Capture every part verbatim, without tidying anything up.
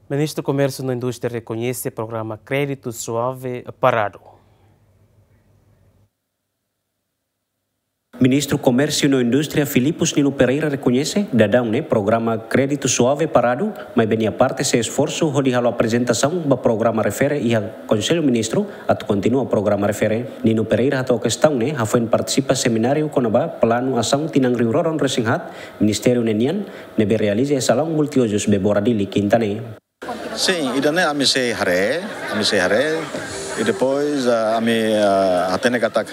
Ministru Komérsiu no Indústria rekoñese programa Crédito Suave paradu. Ministru Komérsiu no Indústria Filipus Nino Pereira rekoñese daudaun ne'e programa Crédito Suave paradu, maibé nia parte sei esforsu hodi halo aprezentasaun ba programa refere iha Konsellu Ministru atu kontinua programa refere. Nino Pereira hato'o kestaun ne'e hafoin partisipa semináriu kona-ba planu asaun tinan rihun rua ruanulu-resin-haat Ministériu ne'e nian, ne'ebé realiza iha salaun multiuzus Bebora Dili, Kinta ne'e. Sin, ida-ne'e ami sei haree, ami sei haree, i depois, ah, ami, ah, hatene katak,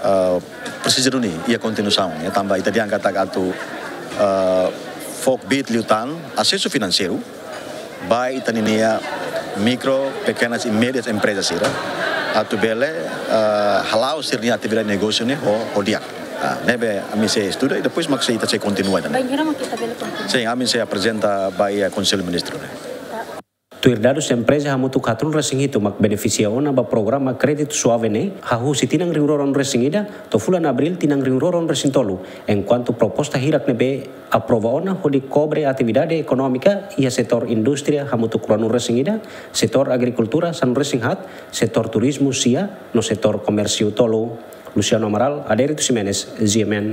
ah, presiza duni iha kontinuasaun, ya, tanba ita dehan katak atu, ah, fó kbiit liután asesu finanseiru ba ita-nia mikro, pekenas i médias emprezas sira atu bele, ah, hala'o sira-nia atividade negósiu ne'e ho, ho di'ak. Ah, ne'ebé ami sei estuda i depois mak sei, ita sei kontinua ida-ne'e. Bainhira mak ita bele kontinua? Sin, ami sei aprezenta ba iha Konsellu Ministru ne'e. Tuir dadus, empreza hamutuk haat rihun resin hitu mak benefisia ona ba programa Crédito Suave ne'e, hahú husi tinan rihun rua ruanulu-resin-ida to'o fulan Abríl tinan rihun rua ruanulu-resin-tolu, enkuantu proposta hirak ne'ebé aprova ona hodi kobre atividade ekonómika iha setór indústria hamutuk ruanulu-resin-ida, setór agrikultura sanulu-resin-haat, setór turizmu sia, no setór komérsiu tolu. Luciano Amaral, Adérito Ximenes, G M N.